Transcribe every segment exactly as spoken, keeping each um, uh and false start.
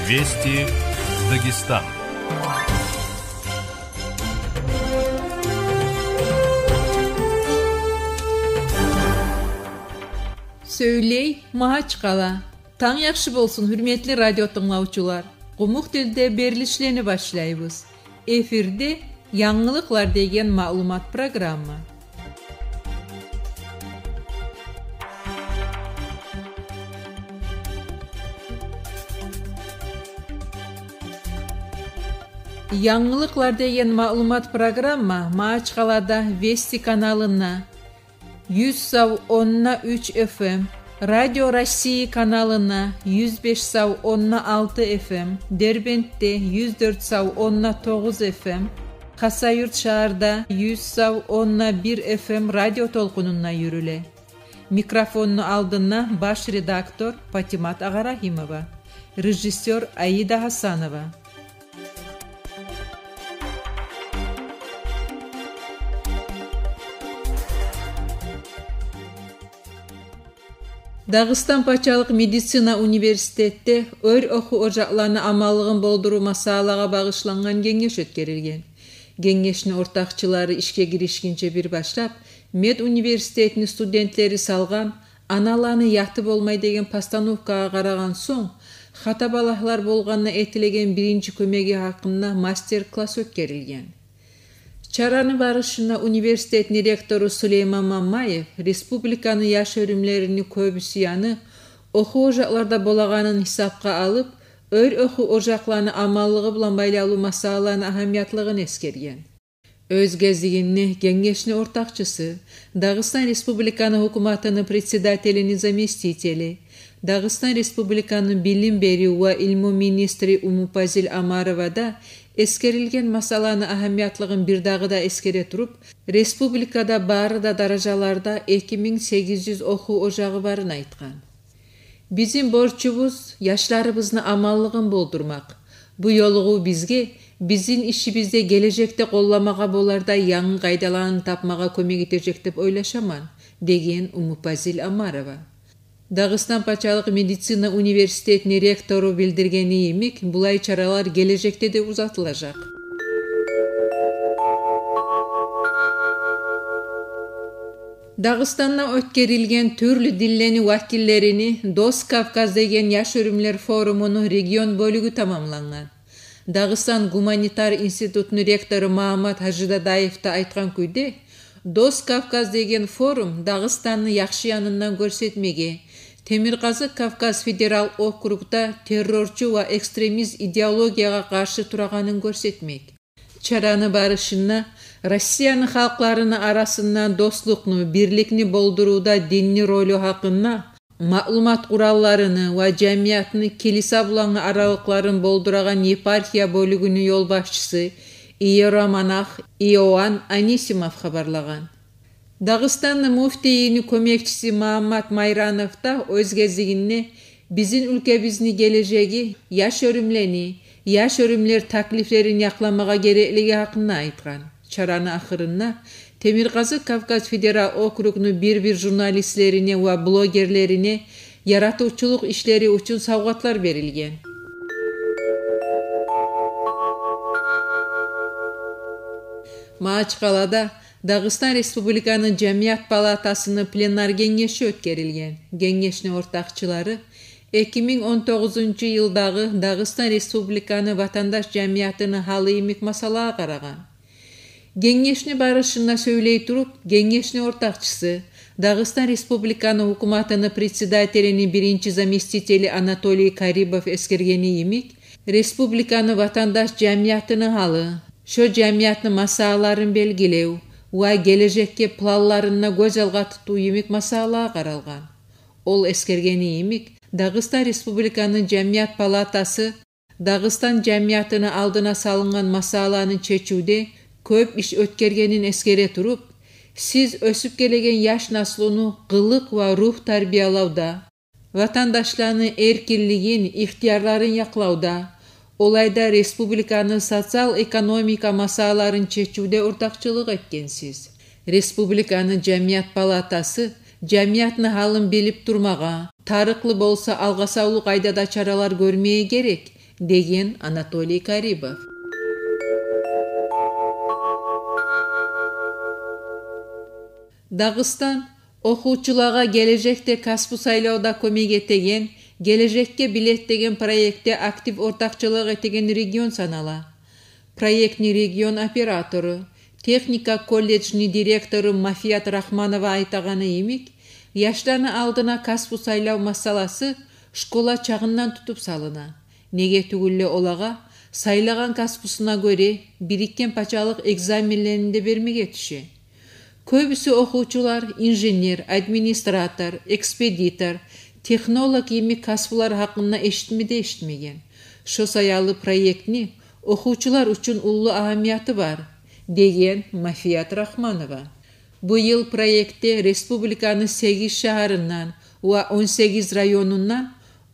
Вести Дагестан. Сёйлей Магьачкъала. Танг яхшы болсун, гьюрметли радио тынглавчулар. Къумукъ тилде берилишлени башлайбыз. Эфирде «Янгылыкълар» деген маълумат программа. «Янгылыкълар» деген маълумат программа Магьачкъалада Вести каналына, юз сав онна уьч эф эм, Радио России каналына, юз беш сав онна алты эф эм, Дербентде, юз дёрт сав онна тогъуз эф эм, Хасавюрт шагьарда, юз сав онна бир эф эм радио толкъунунда юрюле. Микрофонну алдында баш редактор Патимат Агъарагьимова, режиссёр Аида Гьасанова. Дагъыстан пачалыкъ медицина университетде оьр охув ожакъланы аманлыгъын болдурув масъалагъа багъышлангъан генгеш оьтгерилген. Генгешни ортакъчылары ишге гиришгинче бир башлап, медуниверситетни студентлери салгъан «Аналаны яты болмай» деген постановкагъа къарагъан сонг, хатабалагьлар болгъанда этилеген биринчи кёмеги гьакъында мастер-класс оьтгерилген. Чараны барышында университетни ректору Сулейман Мамаев республиканы яш оьрюмлерини кёбюсю яны охув ожакъларда болагъанын гьисапгъа алып, оьр охув ожакъланы аманлыгъы булан байлавлу масъалаланы агьамиятлыгъын эсгерген. Оьз гезигинде генгешни ортакъчысы, Дагъыстан Республиканы гьукуматыны председателини заместители, Дагъыстан Республиканы билим берив ва илму министри Умупазил Амарова да эсгерилген масъаланы агьамиятлыгъын бир дагъы да эсгере туруп, республикада бары да даражаларда эки минг сегиз юз охув ожагъы барын айтгъан. Бизин борчубуз яшларыбызны аманлыгъын болдурмакъ. Бу ёлугъув бизге бизин ишибизде гележекде къолламагъа болардай янгы къайдаланы тапмагъа кёмек этежек деп ойлашаман, деген Умупазил Амарова. Дагъыстан пачалыкъ медицина университетни ректору билдиргени йимик, булай чаралар гележекде де узатылажакъ. Дагъыстанда оьтгерилген тюрлю динлени вакиллерини «Дос Кавказ» деген яш оьрюмлер форумуну регион бёлюгю тамамлангъан. Дагъыстан гуманитар институтну ректору Магьаммат Гьажидадаев да айтгъан кюйде, «Дос Кавказ» деген форум Дагъыстанны яхшы янындан гёрсетмеге, Темиркъазыкъ Кавказ федерал округда террорчу ва экстремист идеологиягъа къаршы турагъанын гёрсетмек. Чараны барышында Россияны халкъларыны арасында дослукъну, бирликни болдурувда динни ролю гьакъында, маълумат къуралларыны ва жамиятны килиса булангъы аралыкъларын болдурагъан епархия бёлюгюню ёлбашчысы, иеромонах Иоанн Анисимов хабарлагъан. Дагъыстанны муфтийини кёмекчиси Магьаммат Майранов да оьз гезигинде бизин уьлкебизни гележеги яш оьрюмлени, яш оьрюмлер таклифлерин якъламагъа гереклиги гьакъында айтгъан. Чараны ахырында Темиркъазыкъ Кавказ федерал округну бир-бир журналистлерине ва блогерлерине яратывчулукъ ишлери учун савгъатлар берилген. Магьачкъалада Дагъыстан Республиканы Жамият палатасыны пленар генгеши оьтгерилген. Генгешни ортакъчылары эки минг он тогъузунчу йылдагъы Дагъыстан Республиканы ватандаш жамиятыны гьалы йимик масъалагъа къарагъан. Генгешни барышында сёйлей туруп, генгешни ортакъчысы, Дагъыстан Республиканы гьукуматыны председателини биринчи заместители Анатолий Карибов эсгергени йимик, республиканы ватандаш жамиятыны гьалы, шо жамиятны масъалаларын белгилев ва гележекге планларын гёз алгъа тутув йимик масъалагъа къаралгъан. Ол эсгергени йимик, Дагъыстан Республиканы Жамият палатасы Дагъыстан жамиятыны алдына салынгъан масъаланы чечивде кёп иш оьтгергенин эсгере туруп, сиз оьсюп гелеген яш наслуну къылыкъ ва ругь тарбиялавда, ватандашланы эркинлигин, ихтиярларын якълавда, олай да республиканы социал-экономика масъалаларын чечивде ортакъчылыкъ этгенсиз. Республиканы Жамият палатасы жамиятны гьалын билип турмагъа, тарыкълы болса, алгъасавлу къайдада чаралар гёрмеге герек, деген Анатолий Карибов. Дагъыстан охувчулагъа гележекде касбу сайлавда кёмек этеген «Гележекге билет» деген проектде актив ортакъчылыкъ этеген регион санала. Проектни регион оператору, техника колледжни директору Мафият Рахманова айтагъаны йимик, яшланы алдына касбу сайлав масъаласы школа чагъындан тутуп салына. Неге тюгюл де олагъа сайлагъан касбусуна гёре бирикген пачалыкъ экзаменлерин де бермеге тюше. Кёбюсю охувчулар инженер, администратор, экспедитор, технолог йимик касбулар гьакъында эшитме де эшитмеген. Шо саялы проектни охувчулар учун уллу агьамияты бар, деген Мафият Рахманова. Бу йыл проектде республиканы сегиз шагьарындан ва он сегиз районундан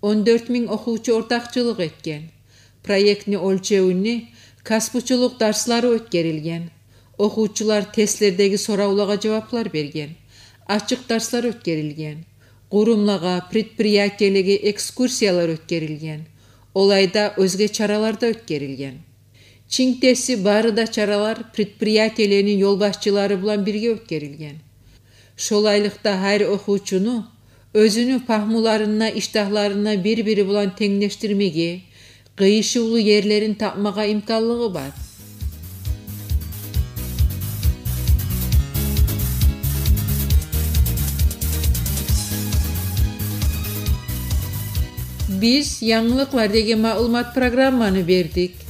он дёрт минг охувчу ортакъчылыкъ этген. Проектни оьлчевюнде касбучулукъ дарслары оьтгерилген. Охувчулар тестлердеги соравлагъа жаваплар берген. Ачыкъ дарслар оьтгерилген. Къурумлагъа, предприятиелеге экскурсиялар оьтгерилген. Олай да оьзге чаралар да оьтгерилген. Чинк теси, бары да чаралар предприятиелени ёлбашчылары булан бирге оьтгерилген. Шолайлыкъда гьар охувчуну оьзюню пагьмуларына, иштагьларына бир-бири булан тенглешдирмеге, къыйышывлу ерлерин тапмагъа имканлыгъы бар. Биз янгылыкълар деген маълумат программаны бердик.